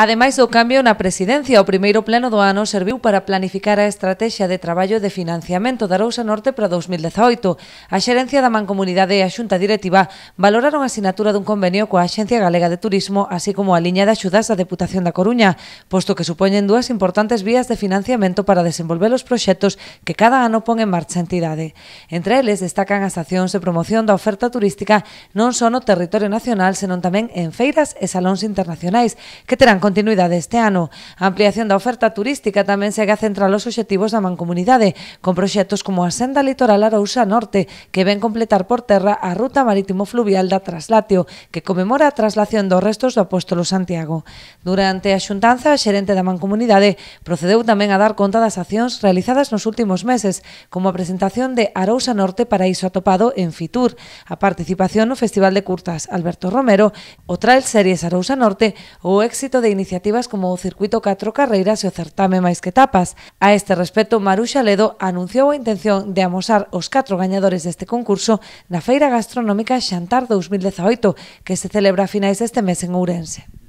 Ademais do cambio na presidencia, o primeiro pleno do ano serviu para planificar a estrategia de traballo de financiamento da Arousa Norte para 2018. A xerencia da Mancomunidade e a Xunta Directiva valoraron a asinatura dun convenio coa Axencia Galega de Turismo, así como a liña de axudas da Deputación da Coruña, posto que supoñen dúas importantes vías de financiamento para desenvolver os proxectos que cada ano pon en marcha a entidade. Entre eles destacan as accións de promoción da oferta turística non só no territorio nacional, senón tamén en feiras e salóns internacionais, que terán continuidade este ano. A ampliación da oferta turística tamén segue a centrar os obxectivos da Mancomunidade, con proxectos como a Senda Litoral Arousa Norte, que ven completar por terra a ruta marítimo-fluvial da Traslatio, que conmemora a traslación dos restos do apóstolo Santiago. Durante a xuntanza, a xerente da Mancomunidade procedeu tamén a dar conta das accións realizadas nos últimos meses, como a presentación de Arousa Norte Paraíso Atopado en Fitur, a participación no Festival de Curtas Alberto Romero, o Trail Series Arousa Norte ou o éxito de iniciativas como o Circuito 4 Carreiras e o Certame Máis que Tapas. A este respecto, Maruxa Ledo anunciou a intención de amosar os 4 gañadores deste concurso na Feira Gastronómica Xantar 2018, que se celebra a finais deste mes en Ourense.